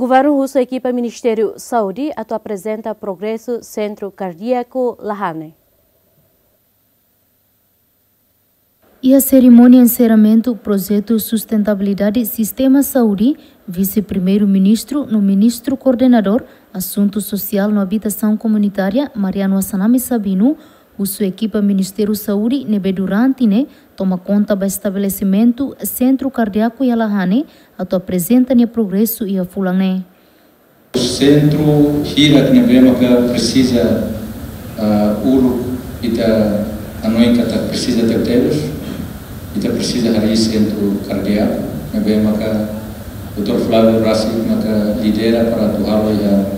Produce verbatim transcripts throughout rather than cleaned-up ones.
Governu husu ekipa Ministériu Saúde atu aprezenta progresu Sentru Kardíaku Lahane. Iha serimónia enserramentu projetu sustentabilidade sistema saúde, Vise-Primeiru-Ministru no Ministru Koordenadór Asuntu Sosiál no Abitasaun Komunitária, Mariano Assanami Sabino, husu ekipa Ministériu Saúde ne'ebé durante ne'e toma konta ba estabelesimentu Sentru Kardíaku iha Lahane atu aprezenta nia progresu iha fulan ne'e. Sentru hirak ne'ebé maka presiza, ah, uluk ita hanoin katak presiza tebetebes, ita presiza harii sentru kardíaku, ne'ebé maka doutór Flávio rasik maka lidera para atu halo iha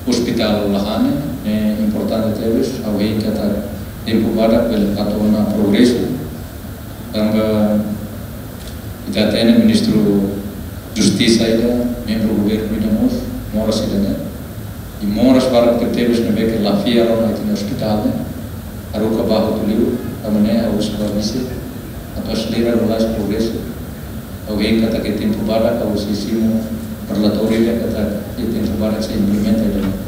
Ospitál Lahane, ne'e importante tebes, ha'u hein katak tempu badak bele fato ona progresu. Tanba ita hatene Ministru Justisa ida, membru governu ida mós, moras ida-ne'e. I moras barak tebetebes ne'ebé ke la fiar ona ita-nia ospitál ne'e. Haruka ba hotu liu, tanba ne'e ha'u husu ba Vise atu aselera lalais progresu. Ha'u hein katak iha tempu badak, ha'u sei simu relatóriu ida katak iha tempu badak sei implementa ida-ne'e.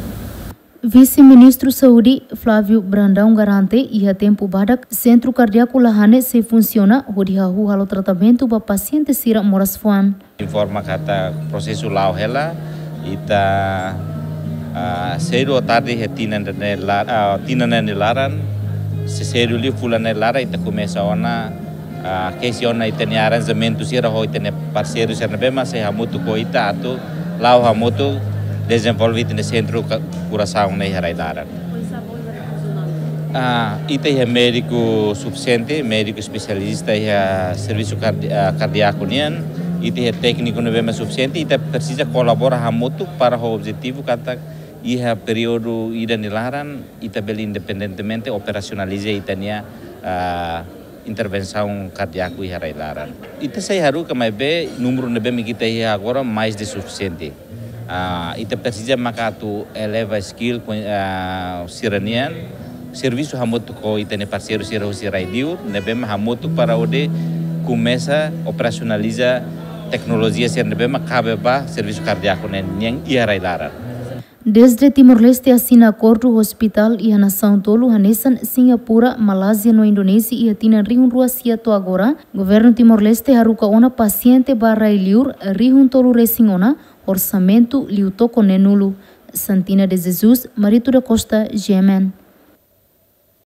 Vise-Ministru Saúde, Flávio Brandão, garante iha tempu badak Sentru Kardíaku Lahane sei funsiona hodi hahú halo tratamentu ba pasiente sira moras fuan. Informa katak prosesu la'o hela, ita, ah, sedu ou tarde iha tinan ne'e la-, ah, tinan ne'e nia laran, se sedu liu fulan ne'e laran, ita komesa ona, ah, kesi ona ita-nia aranjamentu sira ho ita-nia parseiru sira ne'ebé mak sei hamutuk ho ita atu la'o hamutuk dezenvolve ita-nia sentru ka-, kurasaun ne'e iha rai-laran. Ah, ita iha médiku sufisiente, médiku espesialista iha servisu kardi-, ah, kardíaku nian, ita iha tékniku ne'ebé mak sufisiente, ita presiza kolabora hamutuk para ho objetivu katak iha períodu ida nia laran, ita bele independentemente operasionaliza ita-nia, ah, intervensaun kardíaku iha rai-laran. Ita sei haruka maibé númeru ne'ebé mak ita iha agora mais de sufisiente. Ah, ita presiza maka atu eleva skill ko-, ah, sira-nian, servisu hamutuk ho ita-nia parseiru sira husi rai-liur, ne'ebé mak hamutuk para hodi komesa operasionaliza teknolojia sira ne'ebé mak kabe ba servisu kardíaku ne'e nian iha rai-laran. Desde Timor-Leste asina akordu ho ospitál iha nasaun tolu hanesan Singapura, Malázia no Indonézia iha tinan rihun rua sia to'o agora, Governu Timor-Leste haruka ona pasiente ba rai-liur rihun tolu resin ona, orsamentu liu toko neen-nulu. Santina de Jesus, Marito da Costa, G M N.